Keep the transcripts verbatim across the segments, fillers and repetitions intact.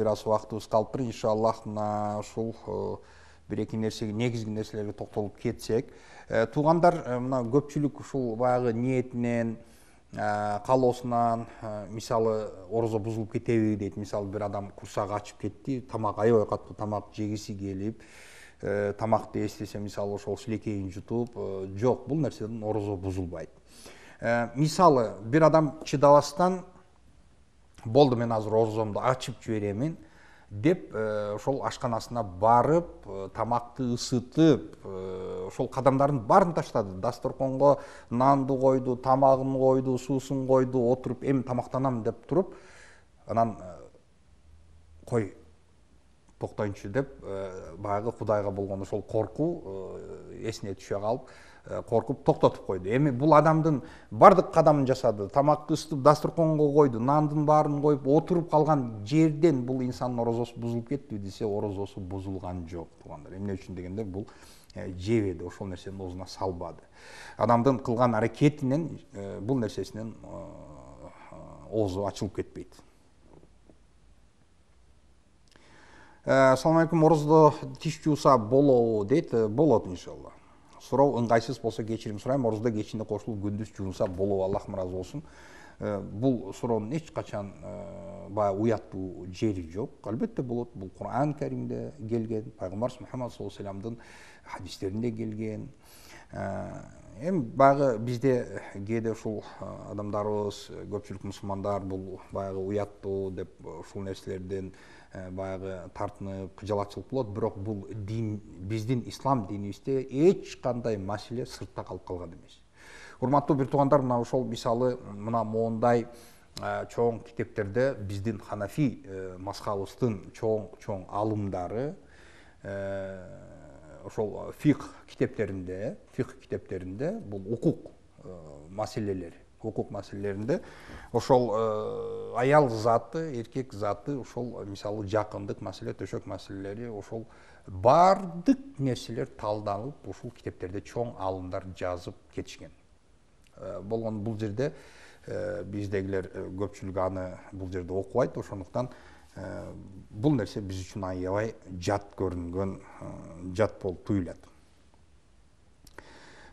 бир аз убактыбыз калыптыр. Иншаллах мына ушул бир эки нерсеге, негизги нерселерге токтолуп кетсек, туугандар, мына көпчүлүк ушул баягы ниетинен, каалоосунан, мисалы орозо бузулуп кетеби дейт. Мисалы бир адам курсагы ачып кетти, тамак аябай катуу тамак жегиси келип, тамакты эстесе, мисалы ошол шилекейин жутуп, жок, бул нерседен орозо бузулбайт. Мисалы бир адам чыдабастан болду, мен азыр орозомду ачып жиберемин деп ошол ашканасына барып, тамакты ысытып, ошол кадамдардын баарын таштады. Дасторконго нанды койду, тамагын койду, суусун койду, отуруп эми тамактанам деп туруп, анан кой токтоюнчу деп баягы Кудайга болгон ошол коркуу эсине түшө калып, коркуп токтотуп койду. Эми бул адамдын бардык кадамын жасады, тамакты ысытып дасторконго койду, нандын баарын коюп отуруп калган жерден бул инсандын орозосу бузулуп кеттиби десе, орозосу бузулган жок, туугандар. Эмне үчүн дегенде, бул жебеди, ошол нерсени оозуна салбады. Адамдын кылган аракетинен, бул нерсесинен оозу ачылып кетпейт. Assalamu alaikum, орозодо тиш жууса болобу дейт. Болот иншалла. Суроо ыңгайсыз болсо кечирим сурайм. Орозодо кечинде кошулуп күндүз жуунса болобу, Аллах ыраазы болсун. Бул суроонун эч качан баягы уяттуу жери жок. Албетте болот. Бул Кур'ан Каримде келген, пайгамбарыбыз Мухаммад саллаллаху алейхи вассаламдын хадистеринде келген. Эми баягы бизде кээде ушул адамдарыбыз, көпчүлүк мусулмандар бул баягы уяттуу деп ушул нерселерден баягы тартынып, кыжалатчылык болот, бирок бул дин, биздин ислам динибизде эч кандай маселе сыртта калып калган эмес. Урматтуу бир туугандар, мына ошол мисалы мына моундай чоң китептерде биздин Ханафи мазхабыбыздын чоң-чоң алымдары ошол фикх китептеринде, фикх китептеринде бул укук маселелери, укук маселелеринде ошол аял заты, эркек заты, ошол мисалы жакындык маселе, төшөк маселелери, ошол бардык нерселер талданып, ушул китептерде чоң алымдар жазып кетишкен. Болгон бул жерде биздегилер көпчүлүк аны бул жерде окубайт, ошондуктан бул нерсе биз үчүн аябай жат көрүнгөн, жат болуп туюлат.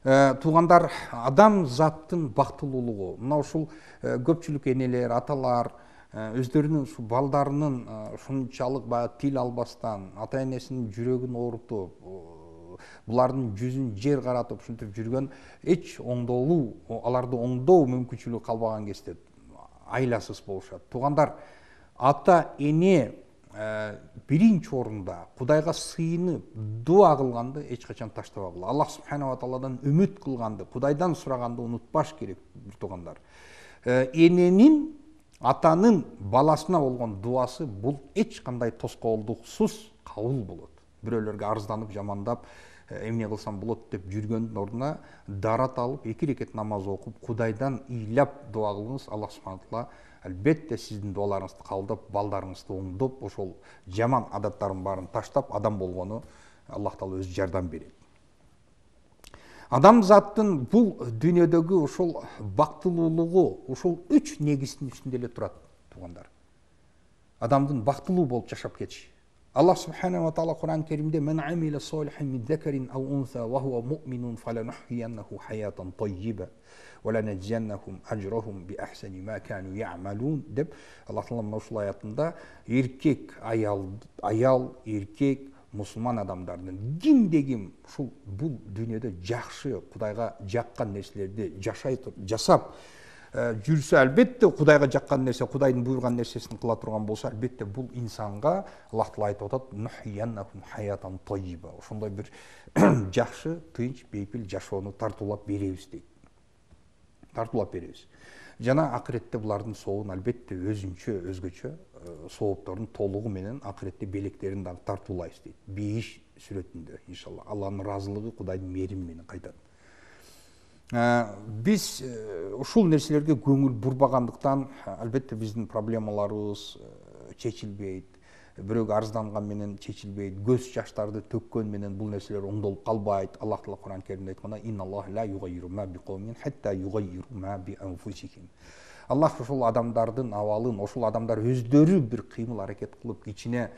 Туугандар, адам заттын бактылуулугу, мына ушул көпчүлүк энелер, аталар өздөрүнүн ушу балдарынын ушунчалык баягы тил албастан, ата энесинин жүрөгүн оорутуп, булардын жүзүн жер каратып ушинтип жүргөн, эч оңдолуу, аларды оңдоо мүмкүнчүлүгү калбаган кезде айласыз болушат. Туугандар, ата эне биринчи орунда Кудайга сыйынып дуа кылганды эч качан таштабагыла. Аллах субханаху ва тааладан үмүт кылганды, Кудайдан сураганды унутпаш керек, бир туугандар. Эненин, атанын баласына болгон дуасы бул эч кандай тоскоолдуксуз кабыл болот. Бирөөлөргө арызданып, жамандап, эмне кылсам болот деп жүргөндүн ордуна дарат алып, эки рекет намаз окуп, Кудайдан ыйлап дуа кылыңыз. Аллах субханаху ва таала албетте сиздин дуаларыңызды кабылдап, балдарыңызды оңдоп, ошол жаман адаттарын баарын таштап, адам болгону Аллах таала өзү жардам берет. Адам заттын бул дүйнөдөгү ошол бактылуулугу ошол үч негиздин үстүндө эле турат, туугандар. Адамдын бактылуу болуп жашап кетиши. Аллах субханаху ва таала Кур'ан Каримде "Мен амила солихан мин закарин ау унса ва хуа муъминун фаланухйияннаху хаятан таййиба ва ланажзияннахум ажрахум би ахсани ма кану яъмалун" деп Аллах таала мына ушул аятында эркек, аял, аял, эркек, мусулман адамдардын кимде ким ушул бул дүйнөдө жакшы, Кудайга жаккан нерселерди жашай туруп, жасап жүрсө, албетте Кудайга жаккан нерсе, Кудайдын буйруган нерсесин кыла турган болсо, албетте бул инсанга Аллах таала айтып атат: "Нухйияннахум хаятан таййиба". Ошондой бир жакшы, тынч, бейпил жашоону тартуулап беребиз дейт. Тартуулап беребиз. Жана акыретте булардын сообун албетте өзүнчө, өзгөчө соопторун толугу менен акыретте белектерин дагы тартуулайбыз дейт. Бейиш сүрөтүндө иншалла. Алланын ыраазылыгы, Кудайдын мээрими менен кайтат. Биз ушул нерселерге көңүл бурбагандыктан албетте биздин проблемаларыбыз чечилбейт. Бирөөгө арызданган менен чечилбейт. Көз жаштарды төккөн менен бул нерселер оңдолуп калбайт. Аллах таала Кур'ан Каримде айткандай: "Инналлаха ла югаййиру ма биқавмин хатта югаййиру ма би анфусихим". Аллах ошол адамдардын абалын, ошол адамдар өздөрү бир кыймыл аракет кылып, кичине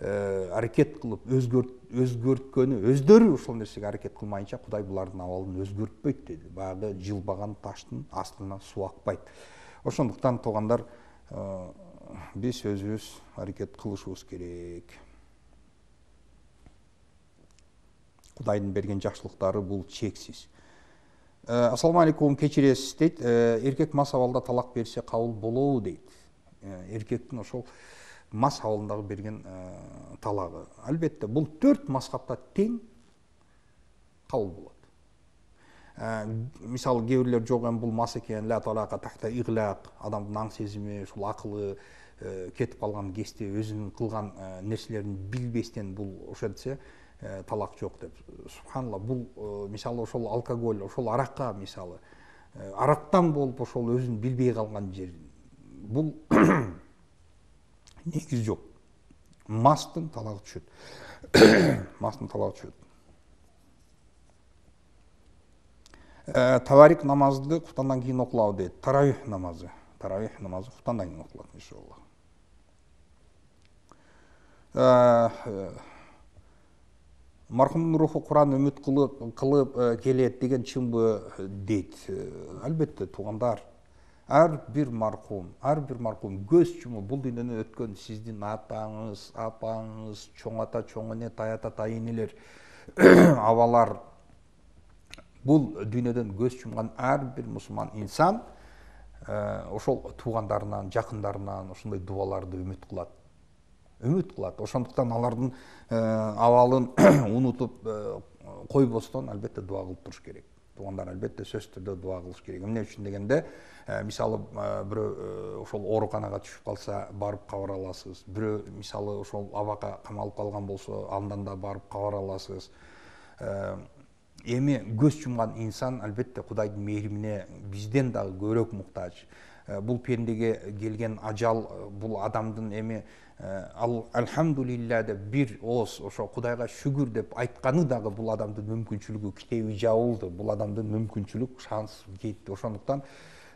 аракет кылып өзгөрткөнү, өздөрү ошол нерсеге аракет кылмайынча Кудай булардын абалын өзгөртпөйт деди. Баягы жылбаган таштын астына суу акпайт. Ошондуктан туугандар, биз өзүбүз аракет кылышыбыз керек. Кудайдын берген жакшылыктары бул чексиз. Ассаламу алейкум, кечиресиз дейт. Эркек мас абалда талак берсе кабыл болобу дейт. Эркектин ошол мас абалындагы берген талагы. Албетте, бул төрт мазхабта тең кабыл болот. Мисалы, кээ бирлер жок, эми бул мас экен, ла талака тахта иглак, адамдын аң сезими, ушул акылы кетип калган кезде өзүнүн кылган нерселерин билбестен бул ошентсе талак жок деп. Субханалла, бул мисалы ошол алкоголь, ошол аракка, мисалы арактан болуп ошол өзүн билбей калган жер. Бул негиз жок. Мастын талагы түшөт. Мастын талагы түшөт. Таварик намазды куфтандан кийин окулабы дейт. Таравих намазы. Таравих намазы куфтандан кийин окулат, иншалла. Мархумдун руху Куран үмүт кылып кылып келет деген чынбы дейт. Албетте, туугандар, ар бир мархум, ар бир мархум көз чумуп бул дүйнөдөн өткөн сиздин атаңыз, апаңыз, чоң ата, чоң эне, таята, тайынелер, абалар, бул дүйнөдөн көз чумган ар бир мусулман инсан ошол туугандарынан, жакындарынан ошондой дубаларды үмүт кылат. Үмүт кылат. Ошондуктан алардын абалын унутуп койбостон албетте дуа кылып туруш керек. Туугандар, албетте сөзсүз түрдө дуа кылыш керек. Эмне үчүн дегенде, мисалы бирөө ошол ооруканага түшүп калса, барып кабар аласыз. Бирөө мисалы ошол абакка камалып калган болсо, андан да барып кабар аласыз. Эми көз чумган инсан албетте Кудайдын мээримине бизден дагы көбүрөөк муктаж. Бул пендеге келген ажал, бул адамдын эми алхамдулилля деп бир ооз ошо Кудайга шүгүр деп айтканы дагы бул адамдын мүмкүнчүлүгү китеби жабылды. Бул адамдын мүмкүнчүлүк, шанс кетти. Ошондуктан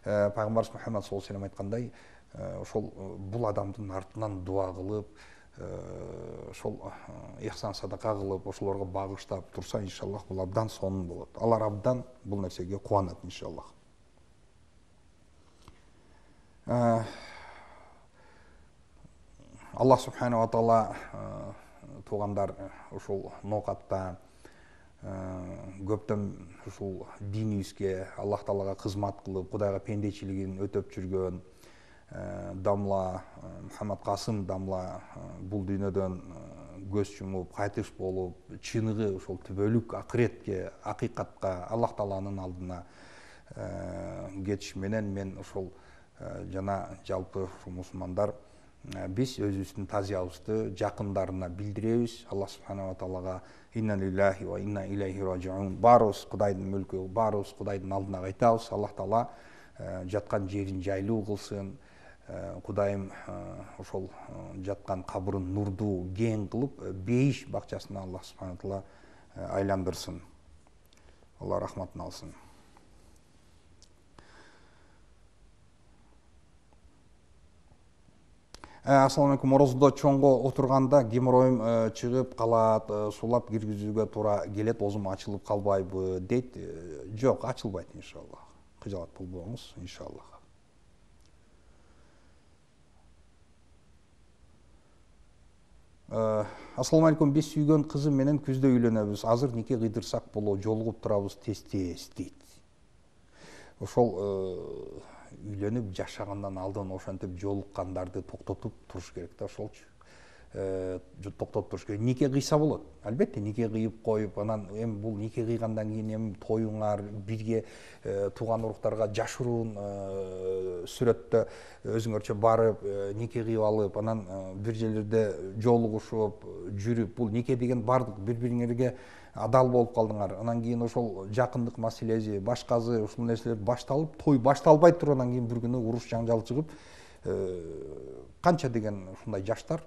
пайгамбарыбыз Мухаммад саллаллаху алейхи вассалам айткандай, ошол бул адамдын артынан дуа кылып, ошол ихсан садака кылып, ошолорго багыштап турса, иншаллах бул абдан сонун болот. Алар абдан бул нерсеге кубанат, иншаллах. Аллах субхана ва таала, туугандар, ушул ноокатта көптөн ушул динибизге, Аллах таалага кызмат кылып, Кудайга пендечилигин өтөп жүргөн дамла Мухаммад Касым дамла бул дүйнөдөн көз чумуп, кайтыш болуп, чыныгы ошол түбөлүк акыретке, акыйкатка, Аллах тааланын алдына кетиш менен мен ошол жана жалпы мусулмандар биз өзүбүздүн тазиябызды жакындарына билдиребиз. Аллах субхана ва таалага инна лиллахи ва инна илейхи раджиун. Баарыбыз Кудайдын мүлкү, баарыбыз Кудайдын алдына кайтабыз. Аллах таала жаткан жерин жайлуу кылсын. Кудайым ошол жаткан кабырын нурдуу, кең кылып, бейиш бакчасына Аллах субхана ва таала айландырсын. Алла рахматын алсын. Ассаламу алейкум. Орозодо чоңго отурганда геморроюм чыгып калат, сулап киргизүүгө туура келет, оозум ачылып калбайбы дейт. Жок, ачылбайт, иншаллах. Кыжалат болбоңуз, иншаллах. Ассаламу алейкум. Биз сүйгөн кызым менен күздө үйлөнөбүз. Азыр нике кыйдырсак боло, жолугуп турабыз тез-тез дейт. Ошол үйлөнүп жашагандан алдын ошентип жолуккандарды токтотуп туруш керек да, ошолчу. Токтотуп туруш керек. Нике кыйса болот. Албетте, нике кыйып коюп, анан эми бул нике кыйгандан кийин эми тоюңар, бирге тууган уруктарга жашыруун сүрөттө өзүңөрчө барып, нике кыйып алып, анан бир жерлерде жолугушуп, жүрүп, бул нике деген бардык бири-бириңерге адал болуп калдыңар. Анан кийин ошол жакындык маселеси, башкасы ушул нерселер башталып, той башталбай тургандан кийин бир күнү уруш жаңжал чыгып, канча деген ушундай жаштар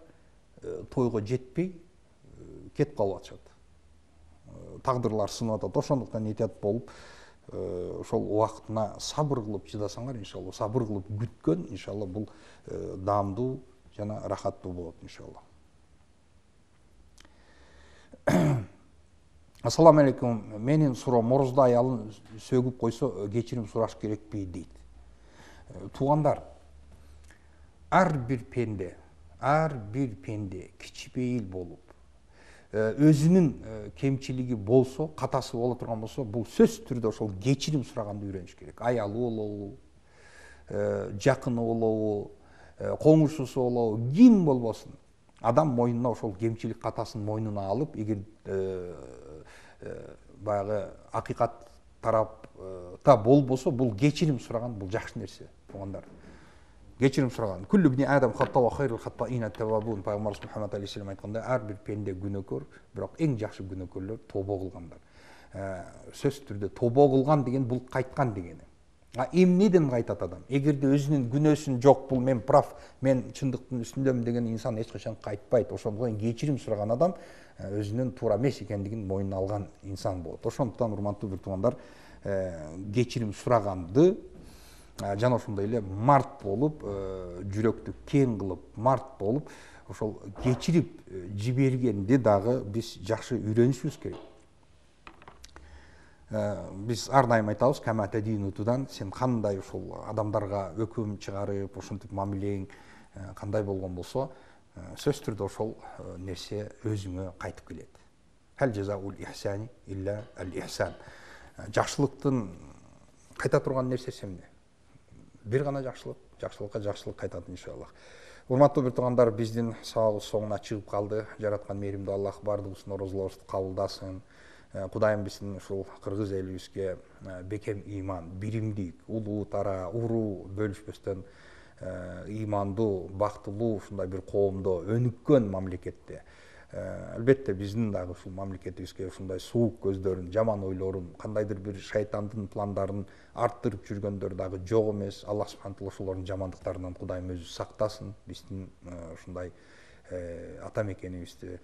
тойго жетпей кетип калып атышат. Тагдырлар сынып атат. Ошондуктан этият болуп, ошол убактына сабыр кылып чыдасаңар, иншалла, сабыр кылып күткөн, иншалла, бул даамдуу жана рахаттуу болот, иншалла. Ассаламу алейкум. Менин суроом, морозда аялын сөгүп койсо кечирим сураш керекпи дейт. Туугандар, ар бир пенде, ар бир пенде кичипейил болуп, өзүнүн кемчилиги болсо, катасы боло турган болсо, бул сөзсүз түрдө ошол кечирим сураганды үйрөнүш керек. Аялы болобу, жакыны болобу, коңушусу болобу, ким болбосун, адам мойнуна ошол кемчилик катасын мойнуна алып, эгер баягы акыйкат тарапта болбосо, бул кечирим сураган, бул жакшы нерсе, туугандар. Кечирим сураган. Күллү бни адам хата ва хайрул хатаина тавабун. Пайгамбарыбыз Мухаммад алейхиссалам айткандай, ар бир пенде күнөөкөр, бирок эң жакшы күнөөкөрлөр тобо кылгандар. Сөзсүз түрдө тобо кылган деген бул кайткан дегени. А эмнеден кайтат адам? Эгерде өзүнүн күнөөсүн жок, бул мен прав, мен чындыктын үстүндөмүн деген инсан эч качан кайтпайт. Ошондон кечирим сураган адам өзүнүн туура эмес экендигин мойнуна алган инсан болот. Ошондуктан, урматтуу бир туугандар, кечирим сураганды жана ошондой эле март болуп, жүрөктү кең кылып, март болуп, ошол кечирип жибергенди дагы биз жакшы үйрөнүшүбүз керек. Биз ар дайым айтабыз, камата динутудан, сен кандай ушул адамдарга өкүм чыгарып, ошентип мамилең кандай болгон болсо, сөзсүз түрдө ошол нерсе өзүңө кайтып келет. Хал жазаул ихсани илля ал ихсан. Жакшылыктын кайта турган нерсеси эмне? Бир гана жакшылык, жакшылыкка жакшылык кайтат, иншалла. Урматтуу бир туугандар, биздин сабагыбыз соңуна чыгып калды. Жараткан мээримдүү Аллах бардыгыбыздын орозуларыбызды кабылдасын. Кудайым биздин ушул кыргыз элибизге бекем ыйман, биримдик, улуу тара, уруу бөлүшпөстөн ыймандуу, бактылуу ушундай бир коомдо өнүккөн мамлекетте, албетте биздин дагы ушул мамлекетибизге ушундай суук көздөрүн, жаман ойлорун, кандайдыр бир шайтандын пландарын арттырып жүргөндөр дагы жок эмес. Аллах субханату ва ошолордун жамандыктарынан Кудайым өзү сактасын биздин ушундай ата мекенибизди.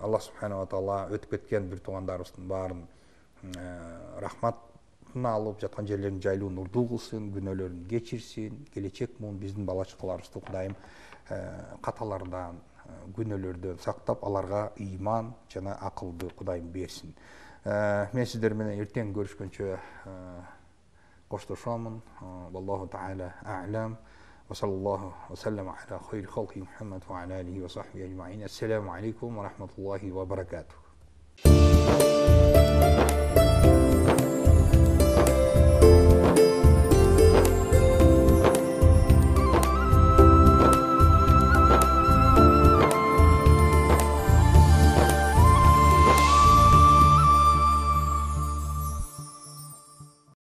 Аллах субханату ва таала өтүп кеткен бир туугандарыбыздын баарын рахматына алып, жаткан жерлерин жайлуу нурдуу кылсын, күнөөлөрүн кечирсин, келечек муун биздин бала чакаларыбызды Кудайым каталардан, күнөөлөрдөн сактап, аларга ыйман жана акылды Кудайым берсин. Мен сиздер менен эртең көрүшкөнчө коштошомун. Wallahu ta'ala a'lam. Wa sallallahu wa sallama ala khayri khalqi Muhammad wa ala alihi wa sahbihi ajma'in. Assalamu alaikum wa rahmatullahi wa barakatuh.